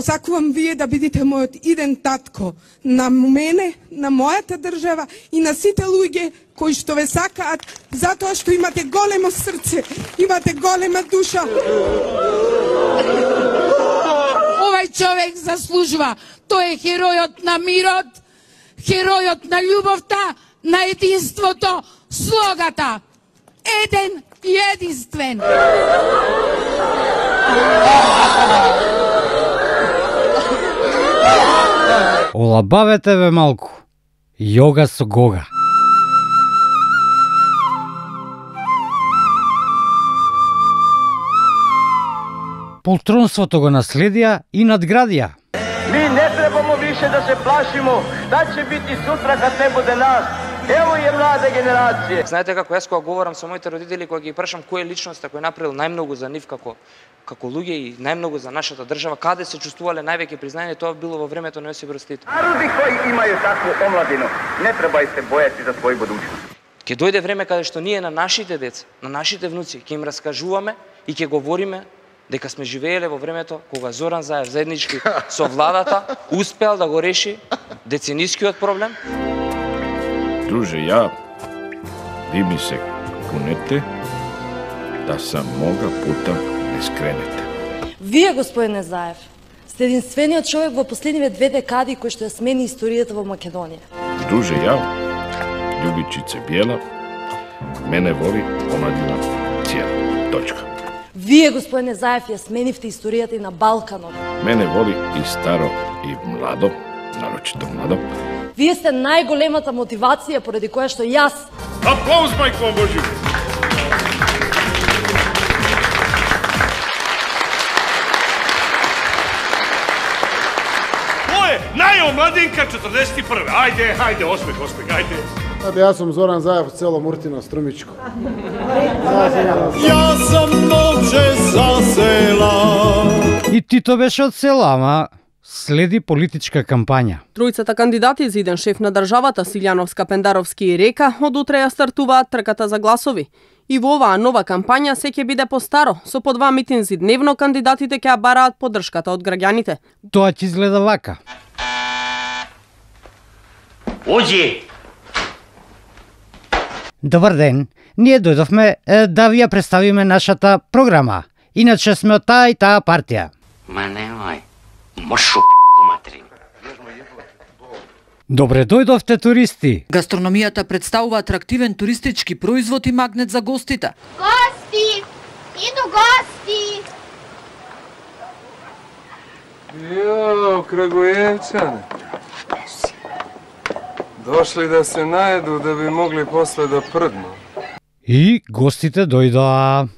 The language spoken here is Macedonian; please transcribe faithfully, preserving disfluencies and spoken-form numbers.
сакувам вие да бидете мојот иден татко на мене, на мојата држава и на сите луѓе кои што ве сакаат, затоа што имате големо срце, имате голема душа. Овај човек заслужува. Тој е херојот на мирот, херојот на љубовта, на единството, слогата. Еден и единствен. Олабавете ве малку. Јога со Гога. Полтронството го наследија и надградија. Ми не требамо више да се плашимо, шта ќе бити сутра кад не буде нас. Ево е млада генерација. Знаете како јас кога говорам со моите родители, кога ги прашам кој е личноста кој направил најмногу за нив како како луѓе и најмногу за нашата држава, каде се чувствувале највеќе признание, тоа било во времето на Јосип Брз Тито. Народи кои имају такво омладино, не треба се бојати за свој будуćност. Ќе дојде време каде што ние на нашите деца, на нашите внуци ќе им раскажуваме и ќе говориме дека сме живееле во времето кога Зоран Заев заеднички со владата успеал да го реши деценискиот проблем. Друже, ја, ви ми се кунете да сам мога пута не скренете. Вие, господине Заев, сте единствениот човек во последниве две декади кој што ја смени историјата во Македонија. Друже, ја, Љубичице Бјела, мене воли омладина cijela. Точка. Вие, господине Заев, ја сменивте историјата и на Балканот. Мене воли и старо и младо, нарочито младо. Вие сте најголемата мотивација поради која што јас... Аплауз, мајко Божи! Тоа е најомладинка четрдесет и прва. Ајде, ајде, осмех, осмех, ајде. Аде, јас сум Зоран Заев, цело Муртино, Струмичко. Јас сум момче за села. И Тито беше од села, ама следи политичка кампања. Тројцата кандидати за иден шеф на државата, Силјановска, Пендаровски и Река, од утре ја стартуваат трката за гласови. И во оваа нова кампања се ќе биде постаро, со по два митинзи дневно кандидатите ќе ја бараат поддршката од граѓаните. Тоа ќе изгледа вака. Оđи! Добар ден, ние дојдовме е, да ви ја представиме нашата програма. Иначе сме од таа и таа партија. Ма немој, мршу п***у материн. Добре дојдовте туристи. Гастрономијата представува атрактивен туристички производ и магнет за гостите. Гости! Иду гости! Јо, Крагујевчане. Дошли да се наеду да би могли после да прдну. И гостите дојдоа.